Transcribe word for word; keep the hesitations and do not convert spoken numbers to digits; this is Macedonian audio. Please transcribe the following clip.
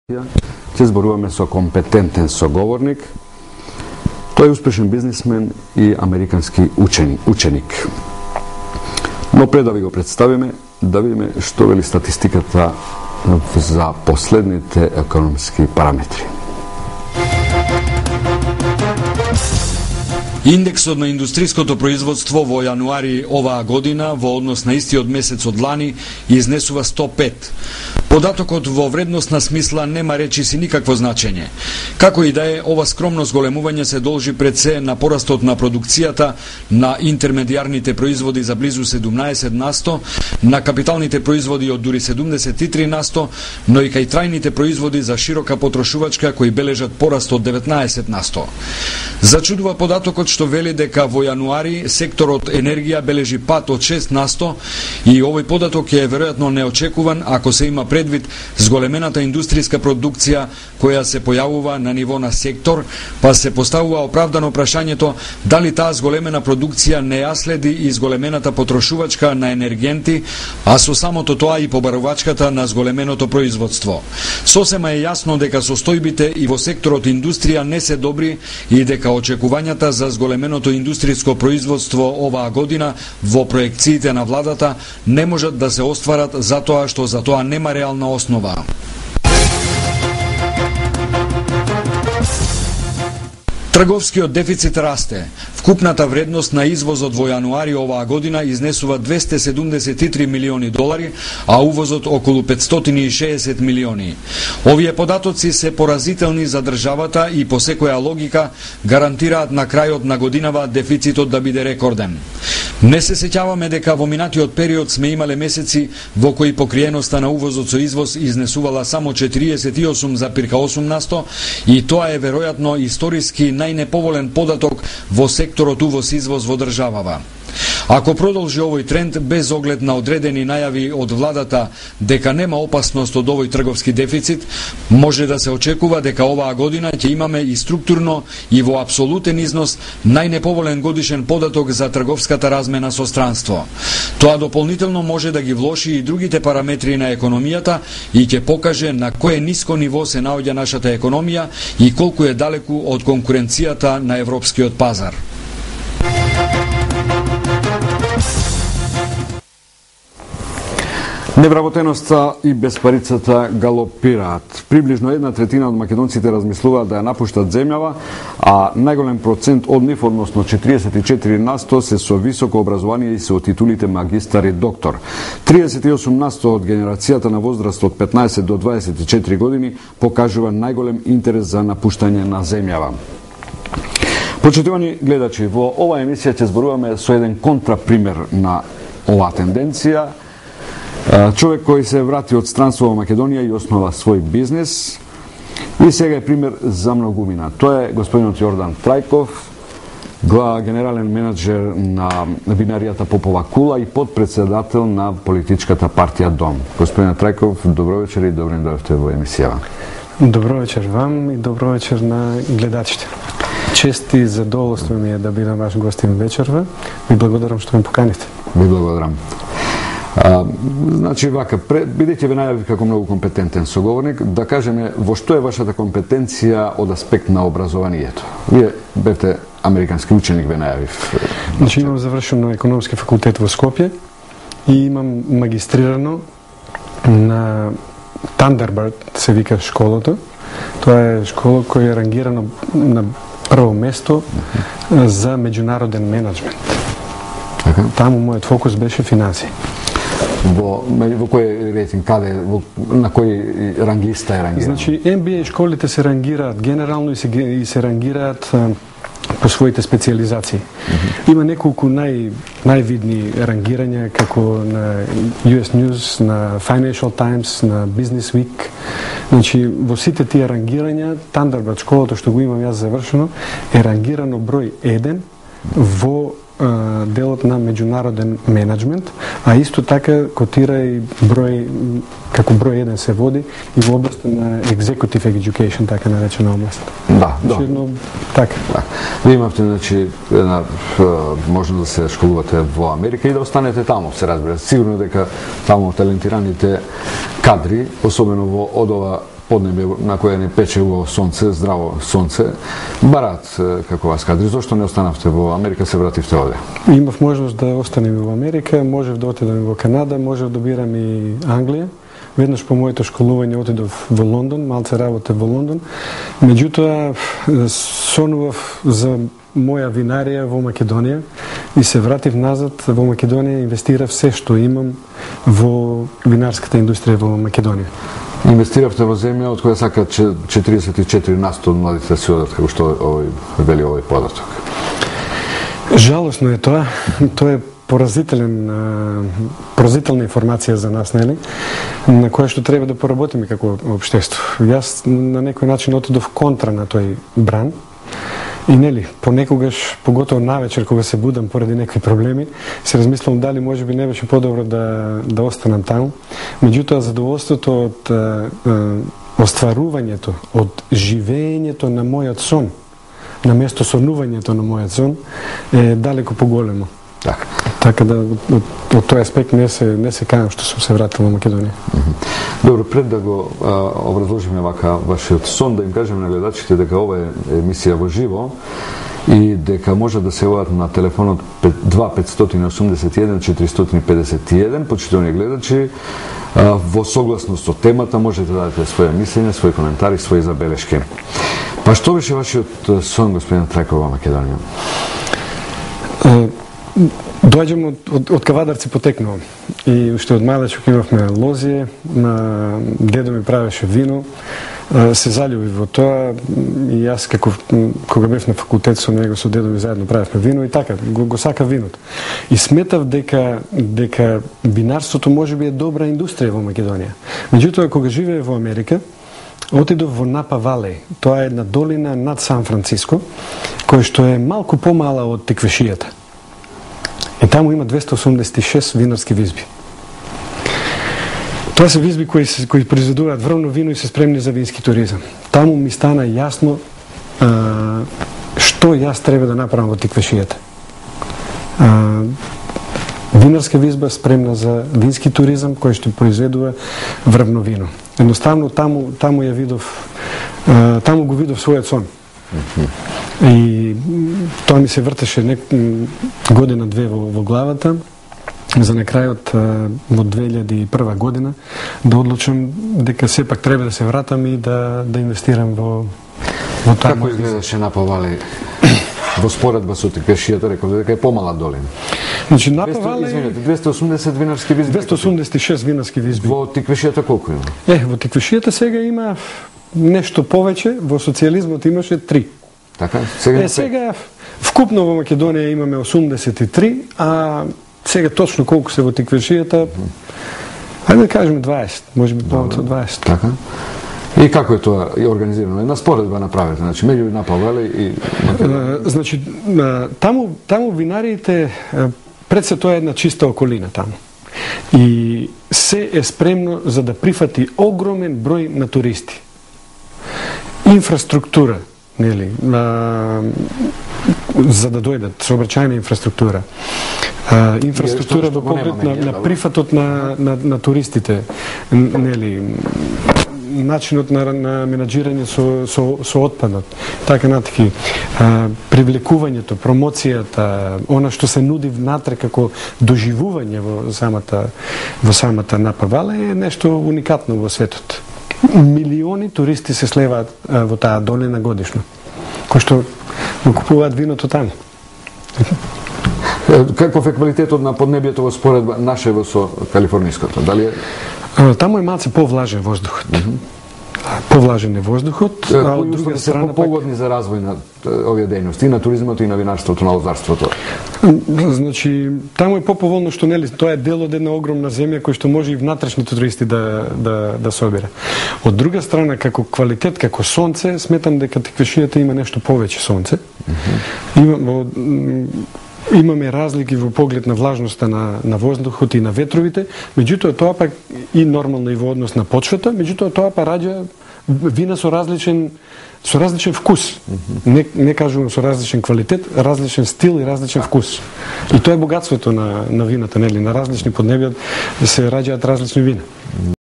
Ќе зборуваме со компетентен соговорник. Тој е успешен бизнисмен и американски учен, ученик. Но пред да ви го представиме, да видиме што вели статистиката за последните економски параметри. Индексот на индустријското производство во јануари оваа година во однос на истиот месец од лани изнесува сто пет. Податокот во вредносна смисла нема речиси никакво значење. Како и да е, ова скромно зголемување се должи пред се на порастот на продукцијата на интермедијарните производи за близу седумнаесет насто, на капиталните производи од дури седумдесет и три насто, но и кај трајните производи за широка потрошувачка кои бележат пораст од деветнаесет насто. Зачудува податокот што вели дека во јануари секторот енергија бележи пат од шест насто и овој податок е веројатно неочекуван ако се има предвид зголемената индустријска продукција која се појавува на ниво на сектор, па се поставува оправдано прашањето дали таа зголемена продукција не ја следи и зголемената потрошувачка на енергенти, а со самото тоа и побарувачката на зголеменото производство. Сосема е јасно дека состојбите и во секторот индустрија не се добри и дека очекувањата за зголеменото индустријско производство оваа година во проекциите на владата не можат да се остварат затоа што за тоа нема реална основа. Трговскиот дефицит расте. Вкупната вредност на извозот во јануари оваа година изнесува двесте седумдесет и три милиони долари, а увозот околу петстотини и шеесет милиони. Овие податоци се поразителни за државата и по секоја логика гарантираат на крајот на годинава дефицитот да биде рекорден. Не се сеќаваме дека во минатиот период сме имале месеци во кои покриеноста на увозот со извоз изнесувала само четириесет и осум запирка осум насто и тоа е веројатно историски најнеповолен податок во секторот увоз-извоз во државава. Ако продолжи овој тренд без оглед на одредени најави од владата дека нема опасност од овој трговски дефицит, може да се очекува дека оваа година ќе имаме и структурно и во апсолутен износ најнеповолен годишен податок за трговската размена со странство. Тоа дополнително може да ги влоши и другите параметри на економијата и ќе покаже на кое ниско ниво се наоѓа нашата економија и колку е далеку од конкуренцијата на европскиот пазар. Невработеноста и безпарицата галопираат. Приближно една третина од македонците размислуваат да ја напуштат земјава, а најголем процент од нив, односно четириесет и четири насто, се со високо образование и се од титулите магистар и доктор. триесет и осум насто од генерацијата на возраст од петнаесет до дваесет и четири години покажува најголем интерес за напуштање на земјава. Почитувани гледачи, во оваа емисија ќе зборуваме со еден контрапример на оваа тенденција. Човек кој се врати од странство во Македонија и основа свој бизнес и сега е пример за многумина. Тоа е господинот Јордан Трајков, генерален менаџер на винаријата Попова кула и подпредседател на политичката партија Дом. Господин Трајков, добро вечер и добро дојдовте во емисијава. Добро вечер вам и добро вечер на гледачите. Чест и задоволство ми е да бидам ваш гостин вечерва. Ви благодарам што ме поканите. Ви благодарам. А, значи вака, бидејќи ве најавив како многу компетентен соговорник, да кажеме во што е вашата компетенција од аспект на образованието. Вие бевте американски ученик, ве најавив. Значи имам завршено економски факултет во Скопје и имам магистрирано на Thunderbird, се вика школата. Тоа е школа која е рангирана на прво место за меѓународен менеджмент. Таму мојот фокус беше финансии. Во, во кој рейтинг, каде, во, на кој ранглиста е рангиран? Значи, Ем Би Ей школите се рангираат генерално и се, и се рангираат а, по своите специализации. Mm-hmm. Има неколку нај, највидни рангирања, како на Ю Ес News, на Financial Times, на Business Week. Значи, во сите тие рангирања, Thunderbird школата, што го имам јас завршено, е рангирано број еден во делот на меѓународен менеджмент, а исто така котира и број, како број еден се води и во област на executive education, така наречена област. Да, да. Едно, така. Да. Вие имавте, значи, една, може да се школувате во Америка и да останете таму, се разбира. Сигурно дека таму талентираните кадри, особено во од ова поднебе на кое не пече убаво сонце, здраво сонце, барат како вас кадри. Зошто не останавте во Америка, се вративте овде? Имав можност да останем во Америка, можев да отидам во Канада, можев да бирам и Англија. Веднаш по моето школување отидов во Лондон, малце работев во Лондон. Меѓутоа, сонував за моја винарија во Македонија и се вратив назад во Македонија, инвестирав се што имам во винарската индустрија во Македонија. Инвестиравте во земја од која сака четириесет и четири на сто од младите си одат, како што овој вели овој податок. Жалосно е тоа. Тоа е поразителен, поразителна информација за нас, нели? На која што треба да поработиме како општество. Јас на некој начин отидов контра на тој бран. И нели, понекогаш, поготово навечер кога се будам поради некои проблеми, се размислам дали можеби не беше подобро да да останам таму. Меѓутоа задоволството од е, остварувањето, од живеењето на мојот сон, на место сонувањето на мојот сон е далеко поголемо. Така. Така да од, од тој аспект не се не се кајам што сум се вратил во Македонија. Mm -hmm. Добро, пред да го а, образложиме вака вашиот сон, да им кажеме на гледачите дека ова е емисија во живо и дека може да се јават на телефонот два петстотини и осумдесет и еден четиристотини и педесет и еден. Почитувани гледачи, а, во согласност со темата можете да дадете своја мислење, своји коментари, своји забелешки. Па што беше вашиот сон, господин Трајков, во Македонија? Доаѓам од, од, од Кавадарци, потекнувам. И уште од малечок имавме лозие, на дедо ми правеше вино, се заљуби во тоа и јас како кога бев на факултет со него, со дедо ми заедно правевме вино и така, го, го сака виното. И сметав дека дека винарството можеби е добра индустрија во Македонија. Меѓутоа кога живее во Америка, отидов во Напа Валеј. Тоа е една долина над Сан Франциско, која што е малку помала од Теквешијата. И таму има двесте осумдесет и шест винарски визби. Тоа се визби кои, кои произведуваат врвно вино и се спремни за вински туризам. Таму ми стана јасно а, што јас треба да направам во Теквешијата. А, винарска визба спремна за вински туризам кој што произведува врвно вино. Едноставно таму таму ја видов а, таму го видов својот сон. И тоа ми се вртеше нек... година-две во, во главата, за на крајот во две илјади и прва година да одлучам дека сепак треба да се вратам и да, да инвестирам во, во тоа. Како изгледаше Напа Валеј во споредба со Теквешијата, реков дека е помала долина? Значи Напа Валеј двесте осумдесет винарски визби. двесте осумдесет и шест винарски визби. Во Теквешијата колку има? Е, во Теквешијата сега има нешто повеќе, во социјализмот имаше три. Така, сега е, сега вкупно во Македонија имаме осумдесет и три, а сега точно колку се во Теквешијата, ајде да кажеме дваесет, можеби повеќе од дваесет. Така. И како е тоа организирано? Една споредба направете, значи меѓу Напа Валеј и Македонија. Значи таму таму винариите пред се тоа е една чиста околина таму. И се е спремно за да прифати огромен број на туристи. Инфраструктура, нели, а, за да дојдат, сообраќајна инфраструктура. А, инфраструктура во поглед на, на прифатот на, на, на туристите, нели, начинот на, на менаџирање со, со, со отпадот, така натаки, а, привлекувањето, промоцијата, она што се нуди внатре како доживување во самата, во самата Напа Валеј е нешто уникатно во светот. Милиони туристи се слеваат а, во таа долина годишно, кои што го купуваат виното таму. Каков е квалитетот на поднебјето во споредба нашево со калифорниското? Дали е... А, таму е малце повлажен воздухот. Mm -hmm. Повлажен е воздухот, а од друга страна се погодни за развој на овие дејности, и на туризмот и на винарството, на лозарството. Значи, таму е поповолно што нели тоа е дел од една огромна земја кој што може и внатрешните туристи да да да собира. Од друга страна, како квалитет, како сонце, сметам дека Теквешијата има нешто повеќе сонце. Mm -hmm. Има имаме разлики во поглед на влажноста на, на воздухот и на ветровите, меѓутоа тоа пак и нормално и во однос на почвата, меѓутоа тоа па раѓа вина со различен со различен вкус. Mm-hmm. Не не кажувам со различен квалитет, различен стил и различен вкус. И тоа е богатството на на вината, нели, на различни поднебја се раѓаат различни вина.